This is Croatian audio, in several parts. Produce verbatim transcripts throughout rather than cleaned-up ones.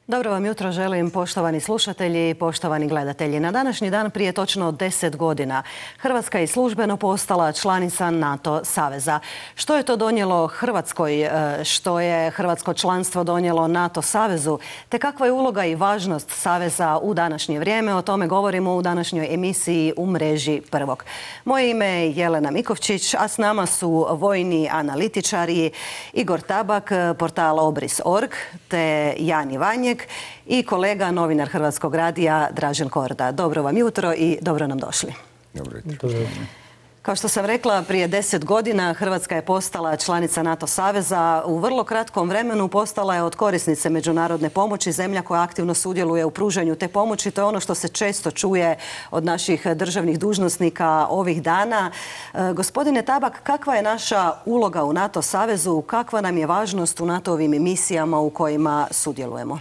Dobro vam jutro želim, poštovani slušatelji i poštovani gledatelji. Na današnji dan prije točno deset godina Hrvatska je službeno postala članica NATO saveza. Što je to donijelo Hrvatskoj, što je hrvatsko članstvo donijelo NATO savezu, te kakva je uloga i važnost saveza u današnje vrijeme? O tome govorimo u današnjoj emisiji U mreži prvog. Moje ime je Jelena Mikovčić, a s nama su vojni analitičari Igor Tabak, portal obris točka org, te Jan Ivanjek i kolega, novinar Hrvatskog radija Dražen Korda. Dobro vam jutro i dobro nam došli. Dobro jutro. Kao što sam rekla, prije deset godina Hrvatska je postala članica NATO saveza. U vrlo kratkom vremenu postala je od korisnice međunarodne pomoći zemlja koja aktivno sudjeluje u pružanju te pomoći. To je ono što se često čuje od naših državnih dužnosnika ovih dana. E, gospodine Tabak, kakva je naša uloga u NATO savezu? Kakva nam je važnost u NATO-ovim misijama u kojima sudjelujemo?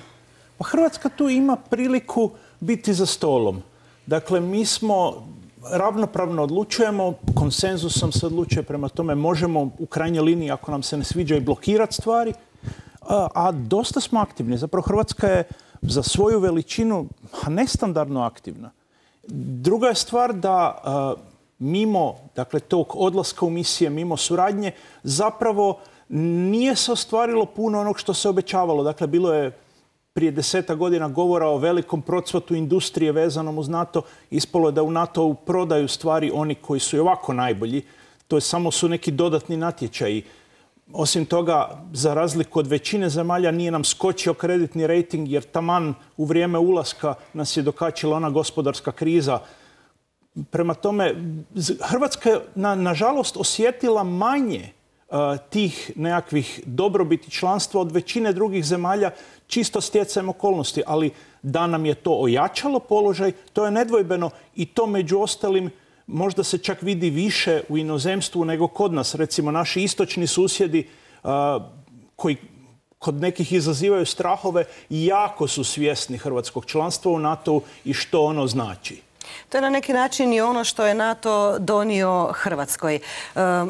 Hrvatska tu ima priliku biti za stolom. Dakle, mi smo ravnopravno odlučujemo, konsenzusom se odlučuje, prema tome možemo u krajnjoj liniji, ako nam se ne sviđa, i blokirati stvari, a, a dosta smo aktivni. Zapravo Hrvatska je za svoju veličinu nestandardno aktivna. Druga je stvar da a, mimo dakle, tog odlaska u misije, mimo suradnje, zapravo nije se ostvarilo puno onog što se obećavalo. Dakle, bilo je prije deseta godina govora o velikom procvatu industrije vezanom uz NATO. Ispalo je da u NATO-u prodaju stvari oni koji su i ovako najbolji. To je samo su neki dodatni natječaji. Osim toga, za razliku od većine zemalja, nije nam skočio kreditni rejting, jer taman u vrijeme ulaska nas je dokačila ona gospodarska kriza. Prema tome, Hrvatska je, na, nažalost, osjetila manje tih nekakvih dobrobiti članstva od većine drugih zemalja, čisto stjecajem okolnosti. Ali da nam je to ojačalo položaj, to je nedvojbeno, i to među ostalim možda se čak vidi više u inozemstvu nego kod nas. Recimo, naši istočni susjedi koji kod nekih izazivaju strahove, jako su svjesni hrvatskog članstva u NATO-u i što ono znači. To je na neki način i ono što je NATO donio Hrvatskoj.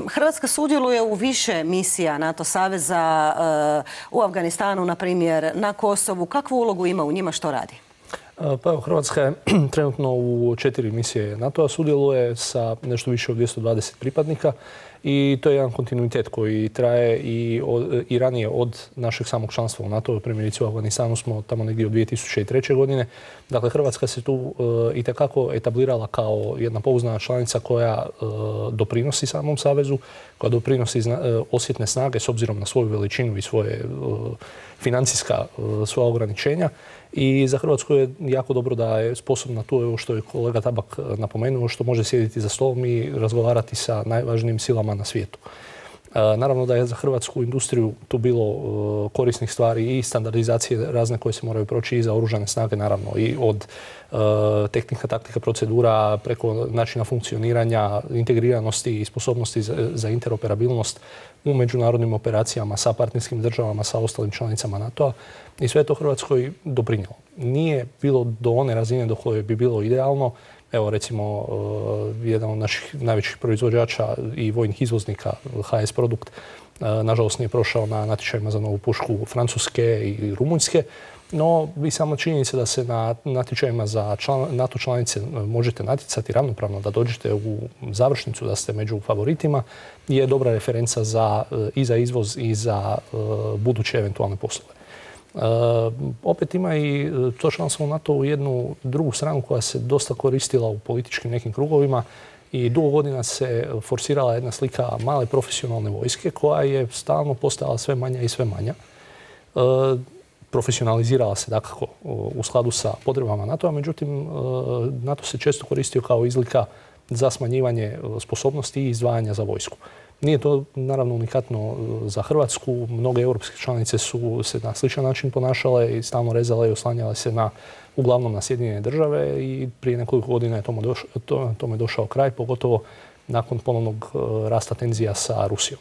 Hrvatska sudjeluje u više misija NATO saveza, u Afganistanu, na primjer, na Kosovu. Kakvu ulogu ima u njima, što radi? Pa evo, Hrvatska je trenutno u četiri misije NATO-a, sudjeluje sa nešto više od dvjesto dvadeset pripadnika. I to je jedan kontinuitet koji traje i, od, i ranije od našeg samog članstva u NATO. Primjerice u Afganistanu smo tamo negdje od dvije tisuće treće. godine. Dakle, Hrvatska se tu uh, itekako etablirala kao jedna pouzdana članica koja uh, doprinosi samom savezu, koja doprinosi zna, uh, osjetne snage s obzirom na svoju veličinu i svoje uh, financijska uh, svoja ograničenja. I za Hrvatsku je jako dobro da je sposobna tu, što je kolega Tabak napomenuo, što može sjediti za stolom i razgovarati sa najvažnijim silama na svijetu. Naravno da je za hrvatsku industriju tu bilo korisnih stvari i standardizacije razne koje se moraju proći i za oružane snage, naravno, i od tehnika, taktika, procedura, preko načina funkcioniranja, integriranosti i sposobnosti za, za interoperabilnost u međunarodnim operacijama sa partnerskim državama, sa ostalim članicama NATO-a. I sve to Hrvatskoj doprinijelo. Nije bilo do one razine do koje bi bilo idealno. Evo, recimo, uh, jedan od naših najvećih proizvođača i vojnih izvoznika, H S Produkt, uh, nažalost nije prošao na natječajima za novu pušku Francuske i Rumunjske. No, vi samo činjenica da se na natječajima za član, NATO članice možete natjecati ravnopravno, da dođete u završnicu, da ste među favoritima, je dobra referenca za, uh, i za izvoz i za uh, buduće eventualne poslove. Uh, opet ima i to članstvo u NATO-u jednu drugu stranu koja se dosta koristila u političkim nekim krugovima i dugo godina se forsirala jedna slika male profesionalne vojske koja je stalno postajala sve manja i sve manja. Uh, profesionalizirala se dakako u skladu sa potrebama NATO-a, međutim uh, NATO se često koristio kao izlika za smanjivanje sposobnosti i izdvajanja za vojsku. Nije to naravno unikatno za Hrvatsku. Mnoge europske članice su se na sličan način ponašale i stalno rezale i oslanjale se na, uglavnom na Sjedinjene države, i prije nekoliko godina je tome došao, to, tome došao kraj, pogotovo nakon ponovnog rasta tenzija sa Rusijom.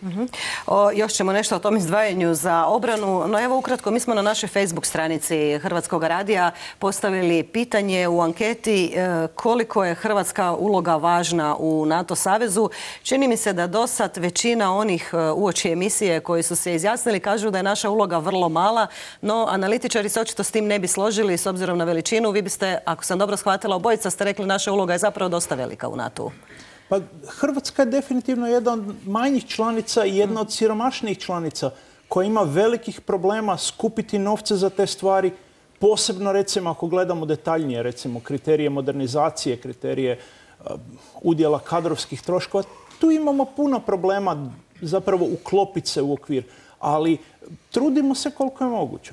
Uh-huh. O, još ćemo nešto o tom izdvajanju za obranu, no evo ukratko, mi smo na našoj Facebook stranici Hrvatskog radija postavili pitanje u anketi e, koliko je hrvatska uloga važna u NATO savezu. Čini mi se da do sad većina onih e, uoči emisije koji su se izjasnili kažu da je naša uloga vrlo mala, no analitičari se očito s tim ne bi složili s obzirom na veličinu. Vi biste, ako sam dobro shvatila, obojica ste rekli naša uloga je zapravo dosta velika u NATO-u. Pa Hrvatska je definitivno jedna od manjih članica i jedna od siromašnijih članica koja ima velikih problema skupiti novce za te stvari, posebno recimo ako gledamo detaljnije, recimo kriterije modernizacije, kriterije uh, udjela kadrovskih troškova. Tu imamo puno problema zapravo uklopiti se u okvir, ali trudimo se koliko je moguće.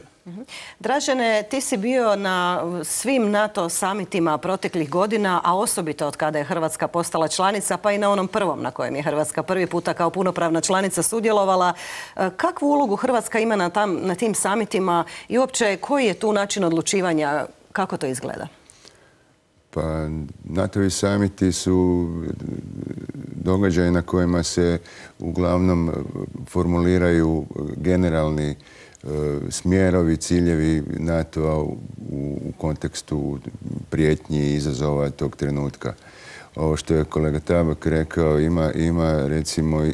Dražene, ti si bio na svim NATO samitima proteklih godina, a osobito od kada je Hrvatska postala članica, pa i na onom prvom na kojem je Hrvatska prvi puta kao punopravna članica sudjelovala. Kakvu ulogu Hrvatska ima na, tam, na tim samitima i uopće koji je tu način odlučivanja? Kako to izgleda? Pa NATO-vi samiti su događaji na kojima se uglavnom formuliraju generalni smjerovi, ciljevi NATO-a u, u kontekstu prijetnji i izazova tog trenutka. Ovo što je kolega Tabak rekao, ima, ima recimo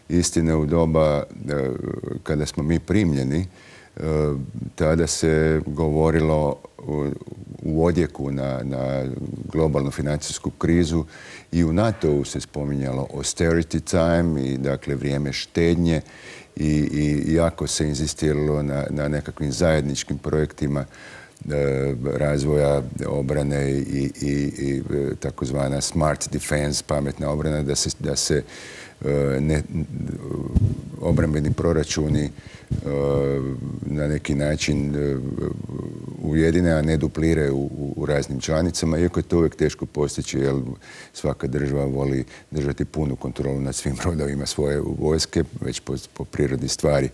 istine u doba kada smo mi primljeni. Tada se govorilo u odjeku na, na globalnu financijsku krizu i u NATO-u se spominjalo austerity time i dakle vrijeme štednje. I, i jako se inzistiralo na, na nekakvim zajedničkim projektima e, razvoja obrane i, i, i takozvana smart defense, pametna obrana, da se, da se e, ne, obrambeni proračuni e, na neki način e, ujedine, a ne dupliraju u, u raznim članicama, iako je to uvijek teško postići, jer svaka država voli držati punu kontrolu nad svim rodovima svoje vojske, već po, po prirodi stvari.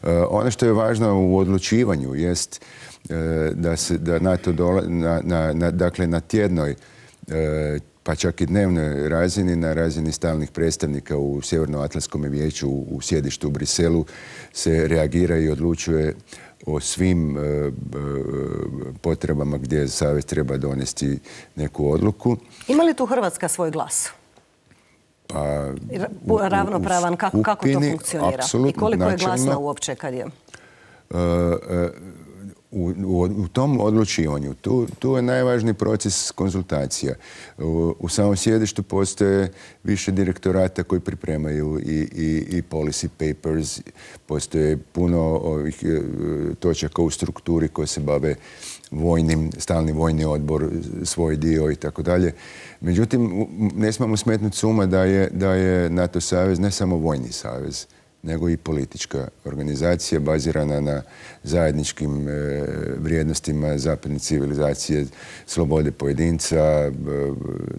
E, ono što je važno u odlučivanju jest e, da se da NATO dola, na, na, na, dakle na tjednoj e, pa čak i dnevnoj razini, na razini stalnih predstavnika u Sjevernoatlantskom vijeću u, u sjedištu u Briselu se reagira i odlučuje o svim e, e, potrebama gdje savez treba donesti neku odluku. Ima li tu Hrvatska svoj glas? Pa, u, Ravnopravan, u kako, kako to funkcionira? I koliko je glasna uopće kad je? Uh, uh, U, u, u tom odlučivanju, tu, tu je najvažniji proces konzultacija. U, u samom sjedištu postoje više direktorata koji pripremaju i, i, i policy papers, postoje puno ovih e, točaka u strukturi koje se bave vojnim, stalni vojni odbor, svoj dio i tako dalje. Međutim, ne smemo smetnuti s uma da je, da je NATO savez ne samo vojni savez, nego i politička organizacija bazirana na zajedničkim e, vrijednostima zapadne civilizacije, slobode pojedinca, e,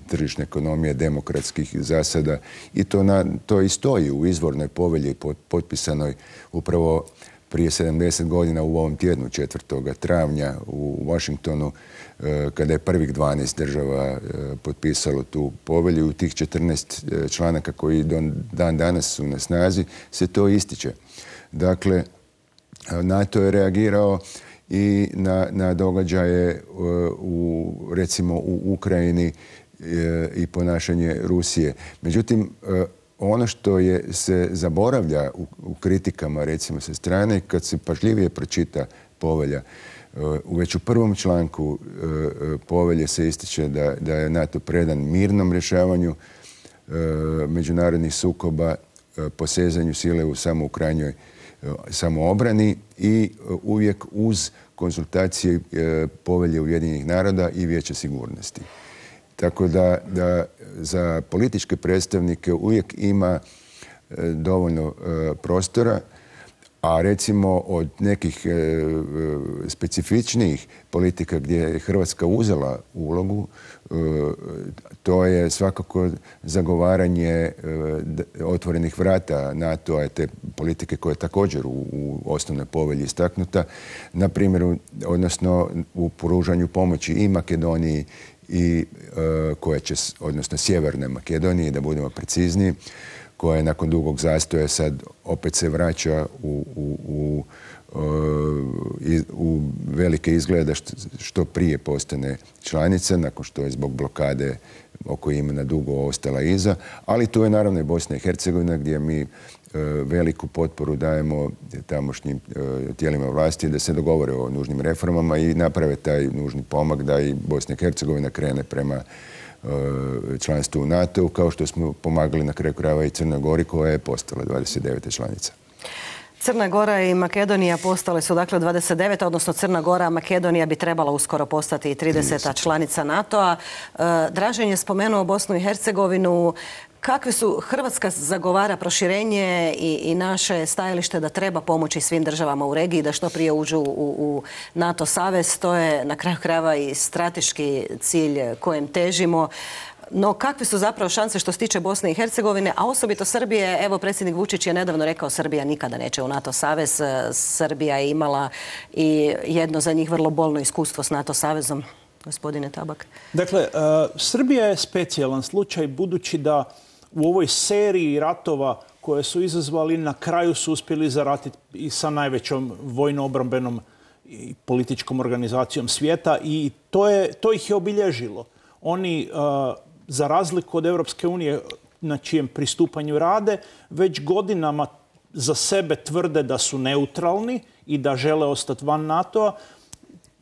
tržišne ekonomije, demokratskih zasada. I to, na, to i stoji u izvornoj povelji potpisanoj upravo prije sedamdeset godina u ovom tjednu, četvrtog travnja u Washingtonu, kada je prvih dvanaest država potpisalo tu povelju. U tih četrnaest članaka koji dan danas su na snazi se to ističe. Dakle, NATO je reagirao i na, na događaje u, recimo u Ukrajini i ponašanje Rusije. Međutim, ono što je, se zaboravlja u, u kritikama, recimo, sa strane, kad se pažljivije pročita povelja, u već u prvom članku povelje se ističe da, da je NATO predan mirnom rješavanju međunarodnih sukoba, posezanju sile u samo u krajnjoj samoobrani i uvijek uz konzultacije povelje Ujedinjenih naroda i Vijeća sigurnosti. Tako da, da za političke predstavnike uvijek ima e, dovoljno e, prostora, a recimo od nekih e, specifičnijih politika gdje je Hrvatska uzela ulogu, e, to je svakako zagovaranje e, otvorenih vrata NATO-a, te politike koja je također u, u osnovnoj povelji istaknuta, na primjer, odnosno u pružanju pomoći i Makedoniji i uh, koja će, odnosno Sjeverne Makedonije, da budemo precizniji, koja je nakon dugog zastoja sad opet se vraća u, u, u, u velike izgleda što prije postane članica, nakon što je zbog blokade oko imena dugo ostala iza. Ali tu je naravno i Bosna i Hercegovina gdje mi veliku potporu dajemo tamošnjim tijelima vlasti da se dogovore o nužnim reformama i naprave taj nužni pomak da i Bosna i Hercegovina krene prema članstvu u NATO-u, kao što smo pomagali na kraju krajeva i Crnoj Gori koja je postala dvadeset deveta članica. Crna Gora i Makedonija postale su dakle dvadeset deveta, odnosno Crna Gora, a Makedonija bi trebala uskoro postati i trideseta članica NATO-a. Dražen je spomenuo Bosnu i Hercegovinu. Kakve su, Hrvatska zagovara proširenje i, i naše stajalište da treba pomoći svim državama u regiji da što prije uđu u, u NATO savez. To je na kraju krajeva i strateški cilj kojem težimo. No, kakve su zapravo šanse što se tiče Bosne i Hercegovine, a osobito Srbije? Evo, predsjednik Vučić je nedavno rekao Srbija nikada neće u NATO savez. Srbija je imala i jedno za njih vrlo bolno iskustvo s NATO savezom. Gospodine Tabak. Dakle, uh, Srbija je specijalan slučaj budući da u ovoj seriji ratova koje su izazvali na kraju su uspjeli zaratiti i sa najvećom vojno-obrambenom i političkom organizacijom svijeta i to, je, to ih je obilježilo. Oni, uh, za razliku od Europske unije na čijem pristupanju rade, već godinama za sebe tvrde da su neutralni i da žele ostati van NATO-a.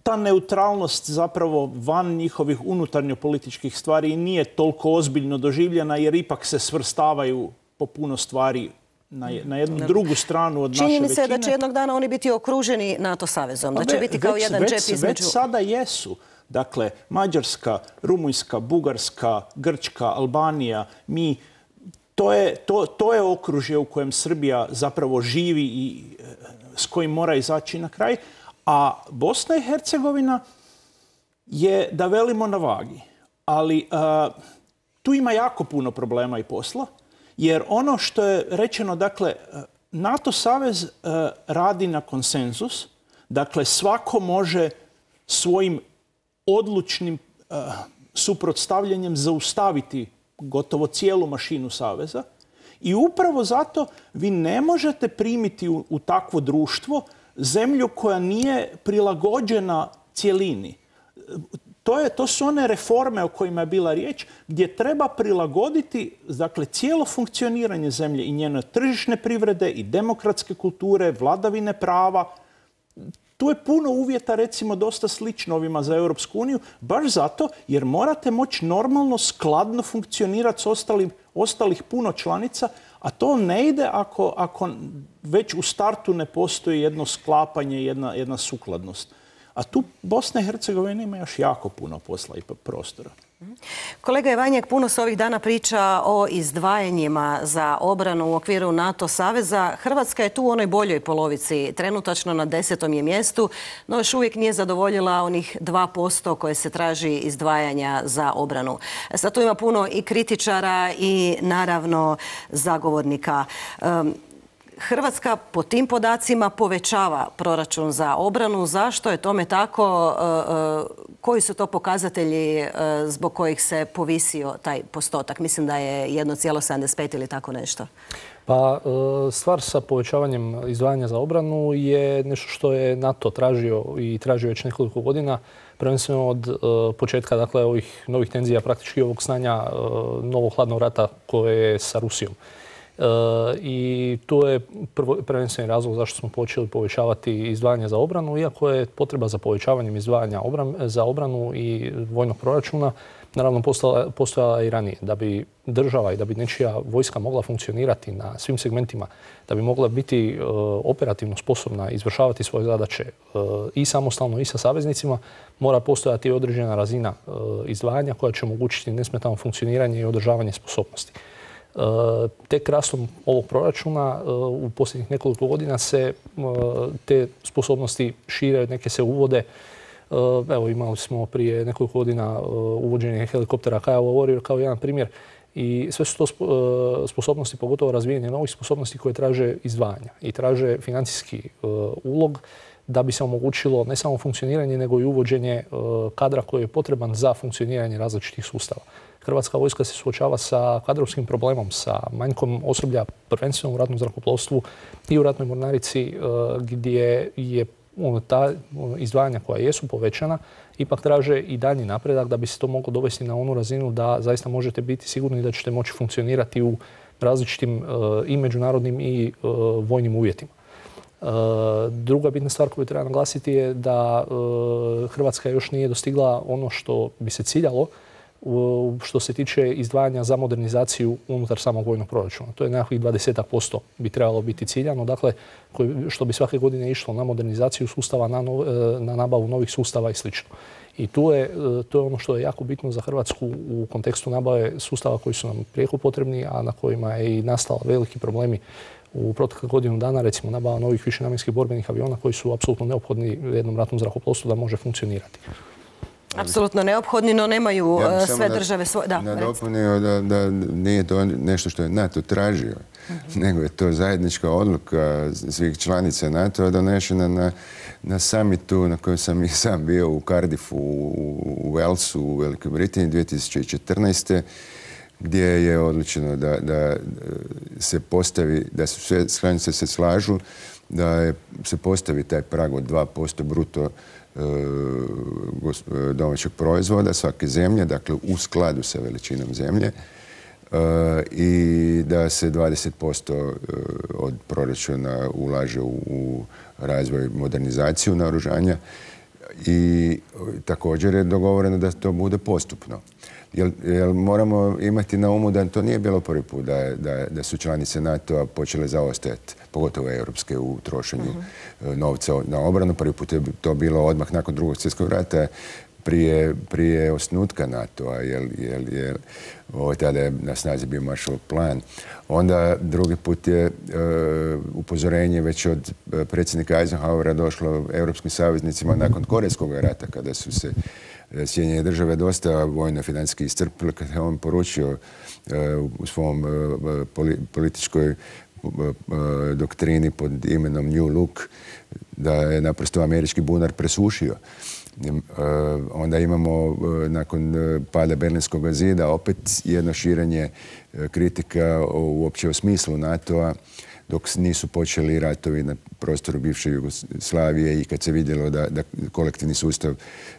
Ta neutralnost zapravo van njihovih unutarnjo-političkih stvari nije toliko ozbiljno doživljena jer ipak se svrstavaju po puno stvari na, na jednu drugu stranu od naše većine. Čini mi se da će jednog dana oni biti okruženi NATO savezom, da će biti kao već, jedan već, džep između... Već sada jesu. Dakle, Mađarska, Rumunjska, Bugarska, Grčka, Albanija, mi... To je, to, to je okružje u kojem Srbija zapravo živi i s kojim mora izaći na kraj. A Bosna i Hercegovina je, da velimo, na vagi. Ali uh, tu ima jako puno problema i posla, jer ono što je rečeno, dakle, NATO savez uh, radi na konsenzus. Dakle, svako može svojim odlučnim uh, suprotstavljanjem zaustaviti gotovo cijelu mašinu saveza. I upravo zato vi ne možete primiti u, u takvo društvo zemlju koja nije prilagođena cjelini. To, je, to su one reforme o kojima je bila riječ, gdje treba prilagoditi, dakle, cijelo funkcioniranje zemlje i njene tržišne privrede i demokratske kulture, vladavine prava. Tu je puno uvjeta, recimo, dosta slično ovima za Europsku uniju, baš zato jer morate moći normalno, skladno funkcionirati s ostalim, ostalih puno članica, a to ne ide ako, ako već u startu ne postoji jedno sklapanje, jedna, jedna sukladnost. A tu Bosna i Hercegovina ima još jako puno posla i prostora. Kolega Ivanjek, puno se ovih dana priča o izdvajanjima za obranu u okviru NATO saveza. Hrvatska je tu u onoj boljoj polovici, trenutačno na desetom je mjestu, no još uvijek nije zadovoljila onih dva posto koje se traži izdvajanja za obranu. Sad tu ima puno i kritičara i naravno zagovornika. Um, Hrvatska po tim podacima povećava proračun za obranu. Zašto je tome tako? Koji su to pokazatelji zbog kojih se povisio taj postotak? Mislim da je jedan zarez sedamdeset pet ili tako nešto. Pa stvar sa povećavanjem izdvajanja za obranu je nešto što je NATO tražio i tražio već nekoliko godina. Prvenstveno od početka, dakle, ovih novih tenzija, praktički ovog stanja novog hladnog rata koje je sa Rusijom. E, I to je prvo, prvenstveni razlog zašto smo počeli povećavati izdvajanja za obranu, iako je potreba za povećavanjem izdvajanja obran, za obranu i vojnog proračuna naravno postojala, postojala i ranije. Da bi država i da bi nečija vojska mogla funkcionirati na svim segmentima, da bi mogla biti e, operativno sposobna izvršavati svoje zadaće e, i samostalno i sa saveznicima, mora postojati određena razina e, izdvajanja koja će omogućiti nesmetano funkcioniranje i održavanje sposobnosti. Tek rastom ovog proračuna u posljednjih nekoliko godina se te sposobnosti šire, neke se uvode. Evo, imali smo prije nekoliko godina uvođenje helikoptera Kiowa Warrior kao jedan primjer. I sve su to sposobnosti, pogotovo razvijenje novih sposobnosti koje traže izdvajanja i traže financijski ulog da bi se omogućilo ne samo funkcioniranje, nego i uvođenje kadra koji je potreban za funkcioniranje različitih sustava. Hrvatska vojska se suočava sa kadrovskim problemom, sa manjkom osoblja, prvenstveno u ratnom zrakoplovstvu i u ratnoj mornarici, gdje je ono, ta izdvajanja koja jesu povećana, ipak traže i daljnji napredak da bi se to moglo dovesti na onu razinu da zaista možete biti sigurni da ćete moći funkcionirati u različitim i međunarodnim i vojnim uvjetima. Druga bitna stvar koju treba naglasiti je da Hrvatska još nije dostigla ono što bi se ciljalo što se tiče izdvajanja za modernizaciju unutar samog vojnog proračuna. To je nekakvih dvadeset posto bi trebalo biti ciljano, dakle, što bi svake godine išlo na modernizaciju sustava, na, nov, na nabavu novih sustava i sl. I tu je, to je ono što je jako bitno za Hrvatsku u kontekstu nabave sustava koji su nam prijeko potrebni, a na kojima je i nastala veliki problemi u proteklih godinu dana, recimo nabava novih višenamjenskih borbenih aviona koji su apsolutno neophodni jednom ratnom zrakoplovstvu da može funkcionirati. Apsolutno neophodni, no nemaju ja sve države svoje... Da, nadopunio da, da nije to nešto što je NATO tražio, uh-huh. nego je to zajednička odluka svih članica NATO-a donešena na, na summitu na kojem sam i sam bio u Cardiffu, u, u Walesu, u Velikoj Britaniji dvije tisuće četrnaeste. gdje je odlučeno da, da se postavi, da su sve članice se slažu, da je, se postavi taj prag od dva posto bruto domaćeg proizvoda svake zemlje, dakle u skladu sa veličinom zemlje, i da se dvadeset posto od proračuna ulaže u, u razvoj, modernizaciju naoružanja i također je dogovoreno da to bude postupno. Jer, jer moramo imati na umu da to nije bilo prvi put da, da, da su članice NATO-a počele zaostajati, pogotovo europske, u trošenju uh-huh. novca na obranu. Prvi put je to bilo odmah nakon Drugog svjetskog rata, prije, prije osnutka NATO-a, jer, jer, jer ovo tada je na snazi bio Marshallov plan. Onda drugi put je uh, upozorenje već od predsjednika Eisenhowera došlo europskim saveznicima nakon Korejskog rata, kada su se Sjedinjene države dosta vojno-financijski iscrpile, kad je on poručio uh, u svom uh, poli, političkoj uh, doktrini pod imenom New Look da je naprosto američki bunar presušio. Uh, onda imamo uh, nakon uh, pada Berlinskog zida opet jedno širenje uh, kritika uopće o smislu NATO-a, dok nisu počeli ratovi na prostoru bivše Jugoslavije i kad se vidjelo da, da kolektivni sustav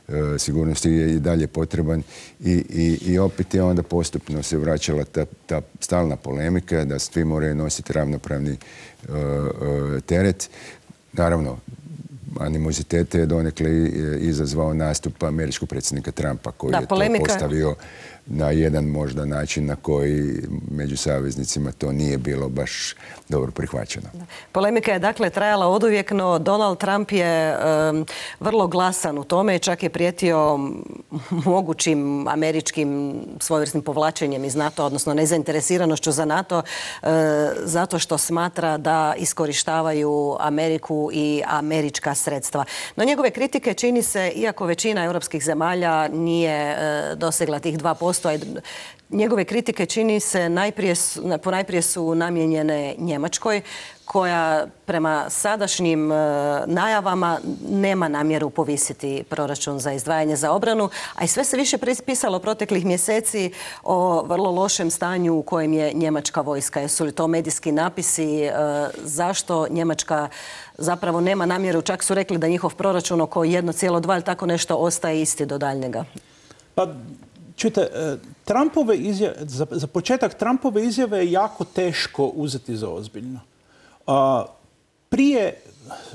e, sigurnosti je i dalje potreban i, i, i opet je onda postupno se vraćala ta, ta stalna polemika da svi moraju nositi ravnopravni e, e, teret. Naravno, animozitete je donekle izazvao nastup američkog predsjednika Trumpa koji da, je polemika... to postavio na jedan možda način na koji među saveznicima to nije bilo baš dobro prihvaćeno. Polemika je dakle trajala oduvijek, no Donald Trump je um, vrlo glasan u tome, čak je prijetio mogućim američkim svojevrsnim povlačenjem iz NATO, odnosno nezainteresiranošću za NATO, uh, zato što smatra da iskorištavaju Ameriku i američka sredstva. No njegove kritike čini se, iako većina europskih zemalja nije uh, dosegla tih dva posto, njegove kritike čini se najprije, ponajprije su namijenjene Njemačkoj, koja prema sadašnjim najavama nema namjeru povisiti proračun za izdvajanje za obranu, a i sve se više pisalo proteklih mjeseci o vrlo lošem stanju u kojem je njemačka vojska. Jesu li to medijski napisi? Zašto Njemačka zapravo nema namjeru? Čak su rekli da njihov proračun oko jedan zarez dva ili tako nešto ostaje isti do daljnjega. Pa, čujte, Trumpove izjave, za, za početak Trumpove izjave je jako teško uzeti za ozbiljno. A, prije,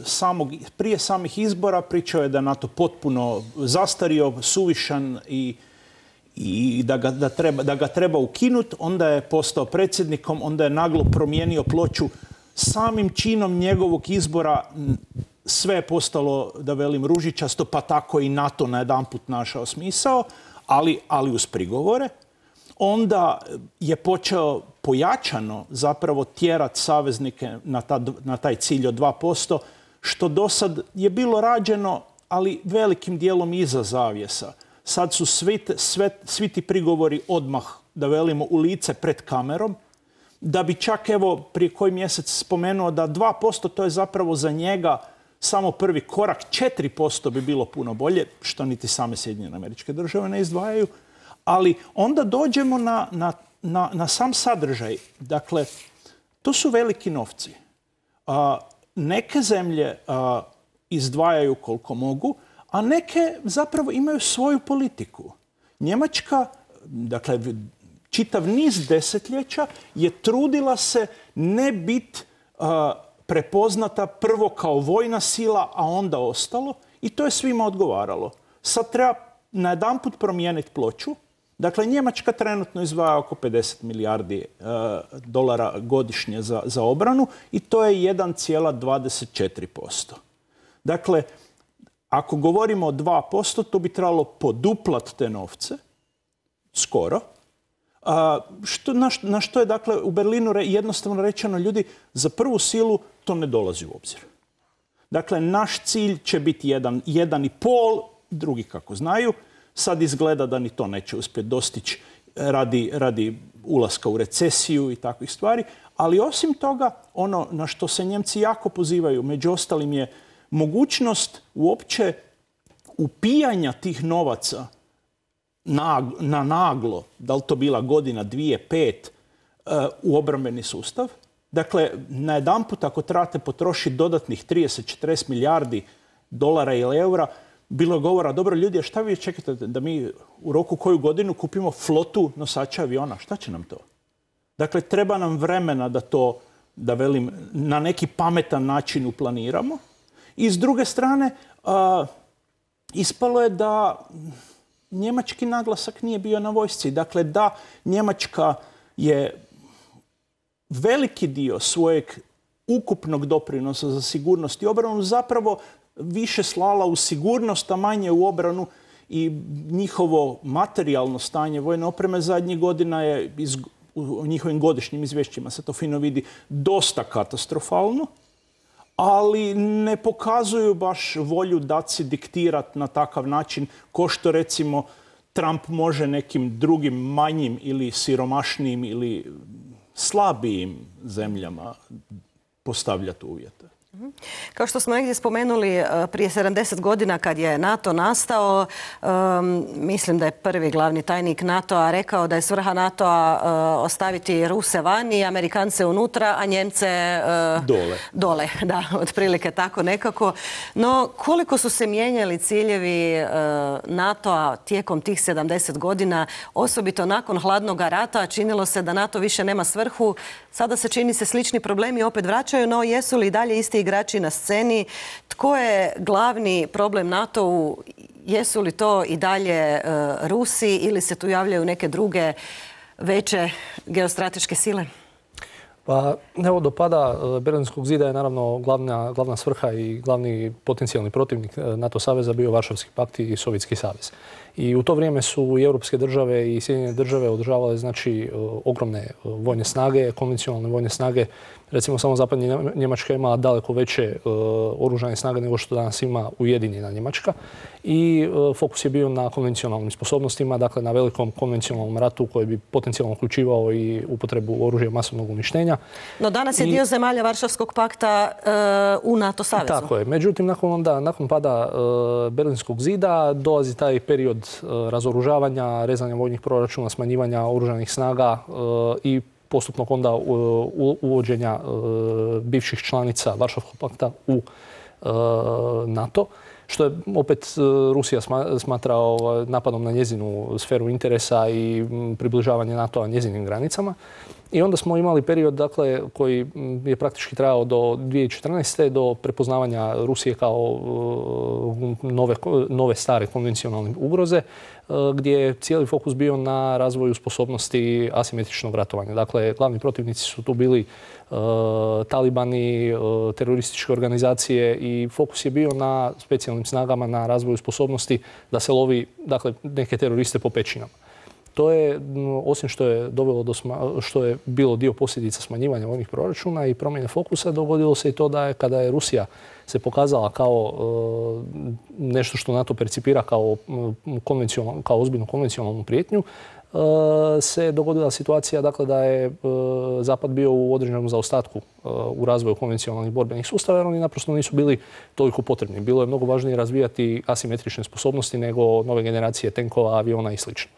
samog, prije samih izbora pričao je da NATO potpuno zastario, suvišan i, i da, ga, da, treba, da ga treba ukinuti. Onda je postao predsjednikom, onda je naglo promijenio ploču. Samim činom njegovog izbora sve je postalo, da velim, ružičasto, pa tako i NATO na jedanput našao smisao. Ali, ali uz prigovore. Onda je počeo pojačano zapravo tjerati saveznike na, ta, na taj cilj od dva posto, što do sad je bilo rađeno, ali velikim dijelom iza zavjesa. Sad su svi, sve, svi ti prigovori odmah, da velimo, u lice pred kamerom, da bi čak, evo, prije koji mjesec spomenuo da dva posto to je zapravo za njega samo prvi korak, četiri posto bi bilo puno bolje, što niti same Sjedinjene Američke Države ne izdvajaju. Ali onda dođemo na, na, na, na sam sadržaj. Dakle, to su veliki novci. A, neke zemlje a, izdvajaju koliko mogu, a neke zapravo imaju svoju politiku. Njemačka, dakle, čitav niz desetljeća je trudila se ne biti prepoznata prvo kao vojna sila, a onda ostalo. I to je svima odgovaralo. Sad treba najedanput promijeniti ploču. Dakle, Njemačka trenutno izdvaja oko pedeset milijardi uh, dolara godišnje za, za obranu i to je jedan zarez dvadeset četiri posto. Dakle, ako govorimo o dva posto, to bi trebalo poduplati te novce, skoro. Uh, što, na, na što je, dakle, u Berlinu re, jednostavno rečeno, ljudi, za prvu silu to ne dolazi u obzir. Dakle, naš cilj će biti jedan, jedan i pol, drugi kako znaju. Sad izgleda da ni to neće uspjeti dostići radi, radi ulaska u recesiju i takvih stvari. Ali osim toga, ono na što se Njemci jako pozivaju, među ostalim je mogućnost uopće upijanja tih novaca na, na naglo, da li to bila godina, dvije, pet, uh, u obrambeni sustav. Dakle, najedanput ako trebate potrošiti dodatnih trideset do četrdeset milijardi dolara ili eura, bilo je govora, dobro ljudi, a šta vi čekate da mi u roku koju godinu kupimo flotu nosača aviona? Šta će nam to? Dakle, treba nam vremena da to, da velim, na neki pametan način uplaniramo. I s druge strane, uh, ispalo je da njemački naglasak nije bio na vojsci. Dakle, da Njemačka je veliki dio svojeg ukupnog doprinosa za sigurnost i obranu zapravo više slala u sigurnost, a manje u obranu, i njihovo materijalno stanje vojne opreme zadnjih godina je, iz, u njihovim godišnjim izvješćima se to fino vidi, dosta katastrofalno, ali ne pokazuju baš volju da si diktirati na takav način ko što recimo Trump može nekim drugim manjim ili siromašnijim ili slabijim zemljama postavljati uvjete. Kao što smo negdje spomenuli, prije sedamdeset godina kad je NATO nastao, um, mislim da je prvi glavni tajnik NATO-a rekao da je svrha NATO-a uh, ostaviti Ruse vani, Amerikance unutra, a Njemce uh, dole. Dole, da, otprilike tako nekako. No, koliko su se mijenjali ciljevi uh, NATO-a tijekom tih sedamdeset godina, osobito nakon hladnog rata, činilo se da NATO više nema svrhu. Sada se čini se slični problemi opet vraćaju, no jesu li dalje isti igrači na sceni? Tko je glavni problem NATO-u? Jesu li to i dalje uh, Rusi ili se tu javljaju neke druge veće geostrateške sile? Pa evo, do pada Berlinskog zida je naravno glavna, glavna svrha i glavni potencijalni protivnik NATO saveza bio Varšavski pakt i Sovjetski savez. I u to vrijeme su i europske države i Sjedinjene države održavale znači ogromne vojne snage, konvencionalne vojne snage. Recimo samo zapadnja Njemačka ima daleko veće uh, oružane snage nego što danas ima Ujedinjena Njemačka. I uh, fokus je bio na konvencionalnim sposobnostima, dakle na velikom konvencionalnom ratu koji bi potencijalno uključivao i upotrebu oružja masovnog uništenja. No danas je I, dio zemalja Varšavskog pakta uh, u NATO savezu. Tako je. Međutim, nakon, onda, nakon pada uh, Berlinskog zida dolazi taj period uh, razoružavanja, rezanja vojnih proračuna, smanjivanja oružanih snaga uh, i postupnog onda uvođenja bivših članica Varšavskog pakta u NATO, što je opet Rusija smatra napadom na njezinu sferu interesa i približavanje NATO-a njezinim granicama. I onda smo imali period, dakle, koji je praktički trajao do dvije tisuće četrnaeste. do prepoznavanja Rusije kao nove, nove stare konvencionalne ugroze, gdje je cijeli fokus bio na razvoju sposobnosti asimetričnog ratovanja. Dakle, glavni protivnici su tu bili uh, talibani, uh, terorističke organizacije i fokus je bio na specijalnim snagama, na razvoju sposobnosti da se lovi, dakle, neke teroriste po pećinama. To je, osim što je dovelo do sma, što je bilo dio posljedica smanjivanja vojnih proračuna i promjene fokusa, dogodilo se i to da je kada je Rusija se pokazala kao e, nešto što NATO percipira kao, konvencionalnu, kao ozbiljnu konvencionalnu prijetnju, e, se dogodila situacija dakle, da je Zapad bio u određenom zaostatku u razvoju konvencionalnih borbenih sustava jer oni naprosto nisu bili toliko potrebni. Bilo je mnogo važnije razvijati asimetrične sposobnosti nego nove generacije tenkova, aviona i slično.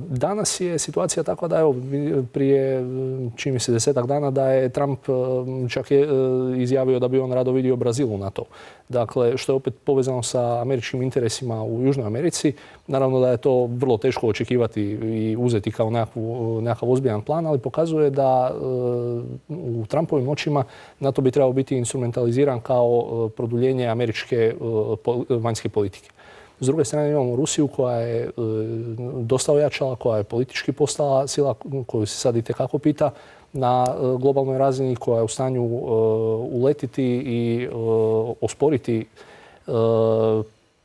Danas je situacija takva da evo prije čini mi se desetak dana da je Trump čak je izjavio da bi on rado vidio Brazil u NATO. Dakle, što je opet povezano sa američkim interesima u Južnoj Americi. Naravno da je to vrlo teško očekivati i uzeti kao nekakvu, nekakav ozbiljan plan, ali pokazuje da u Trumpovim očima NATO bi trebao biti instrumentaliziran kao produljenje američke vanjske politike. S druge strane imamo Rusiju koja je dosta ojačala, koja je politički postala sila koju se sad itekako pita na globalnoj razini, koja je u stanju uletiti i osporiti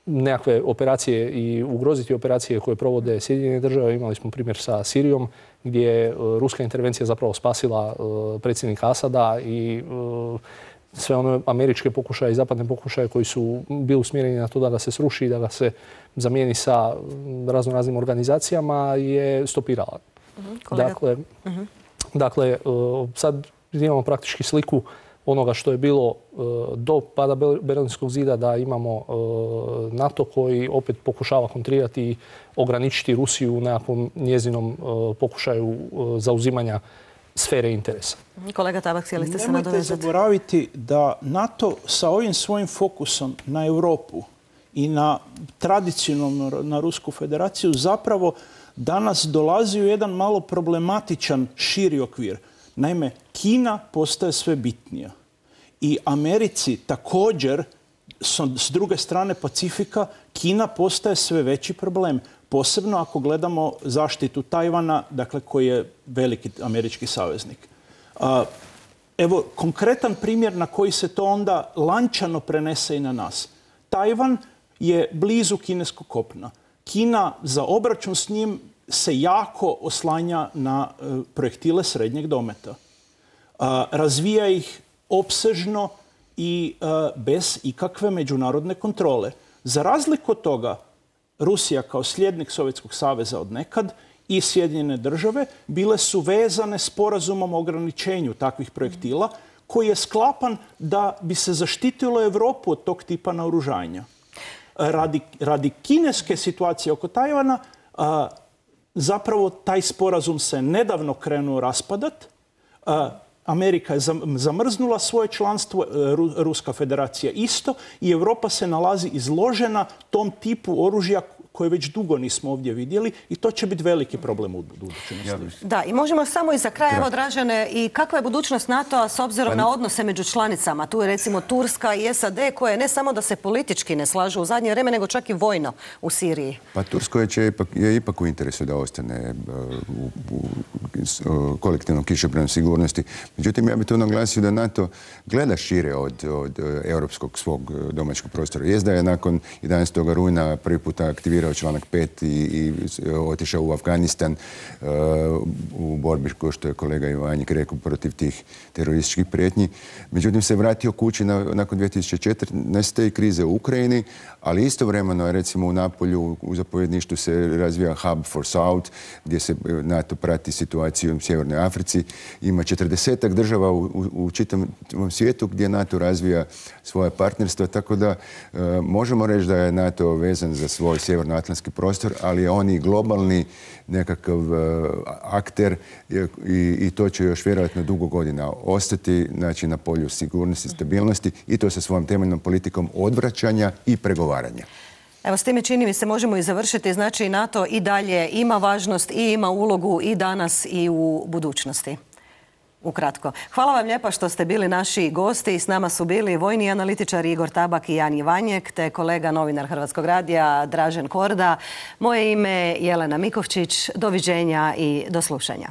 nekakve operacije i ugroziti operacije koje provode Sjedinjene države. Imali smo primjer sa Sirijom gdje je ruska intervencija zapravo spasila predsjednika Asada i sve one američke pokušaje i zapadne pokušaje koji su bili usmjereni na to da ga se sruši i da ga se zamijeni sa razno raznim organizacijama je stopirala. Uh-huh, dakle, uh-huh. dakle, sad imamo praktički sliku onoga što je bilo do pada Berlinskog zida, da imamo NATO koji opet pokušava kontrirati i ograničiti Rusiju u nekakvom njezinom pokušaju zauzimanja sfere interesa. Kolega Tabak, htjeli ste se nadovezati? Nemojte zaboraviti da NATO sa ovim svojim fokusom na Europu i na tradicionalno na Rusku federaciju zapravo danas dolazi u jedan malo problematičan širi okvir. Naime, Kina postaje sve bitnija. I Americi također, s druge strane Pacifika, Kina postaje sve veći problem. Posebno ako gledamo zaštitu Tajvana, dakle koji je veliki američki saveznik. Evo konkretan primjer na koji se to onda lančano prenese i na nas. Tajvan je blizu kineskog kopna. Kina za obračun s njim se jako oslanja na projektile srednjeg dometa. Razvija ih opsežno i bez ikakve međunarodne kontrole. Za razliku od toga, Rusija kao slijednik Sovjetskog saveza od nekad i Sjedinjene države bile su vezane sporazumom o ograničenju takvih projektila koji je sklapan da bi se zaštitilo Europu od tog tipa naoružanja. Radi, radi kineske situacije oko Tajvana a, zapravo taj sporazum se nedavno krenuo raspadat. A, Amerika je zamrznula svoje članstvo, Ruska federacija isto i Europa se nalazi izložena tom tipu oružja koje već dugo nismo ovdje vidjeli i to će biti veliki problem u budućnosti. Da, i možemo samo i za kraj, evo Dražene, i kakva je budućnost NATO-a s obzirom pa, na odnose među članicama? Tu je recimo Turska i S A D koje ne samo da se politički ne slažu u zadnje vrijeme, nego čak i vojno u Siriji. Pa Turskoj je ipak, je ipak u interesu da ostane u, u, u kolektivnom kišobranu sigurnosti. Međutim, ja bih tu naglasio da NATO gleda šire od, od europskog svog domaćeg prostora. Jest da je nakon jedanaestog rujna prvi puta aktivirao članak pet i, i otišao u Afganistan uh, u borbi, kao što je kolega Ivanjik rekao, protiv tih terorističkih prijetnji. Međutim, se vratio kući na, nakon dvije tisuće četrnaeste. krize u Ukrajini, ali istovremeno, recimo u Napolju, u zapovjedništvu se razvija Hub for South, gdje se NATO prati situaciju u Sjevernoj Africi. Ima četrdesetak država u, u, u čitavom svijetu gdje NATO razvija svoje partnerstvo, tako da uh, možemo reći da je NATO vezan za svoj sjevernoatlantski prostor, ali je on i globalni nekakav uh, akter i, i to će još vjerojatno dugo godina ostati, znači, na polju sigurnosti i stabilnosti i to sa svojom temeljnom politikom odvraćanja i pregovaranja. Evo, s time čini mi se možemo i završiti. Znači, NATO i dalje ima važnost i ima ulogu i danas i u budućnosti. Ukratko. Hvala vam lijepa što ste bili naši gosti. S nama su bili vojni analitičar Igor Tabak i Jan Ivanjek, te kolega novinar Hrvatskog radija Dražen Korda. Moje ime je Jelena Mikovčić. Doviđenja i do slušanja.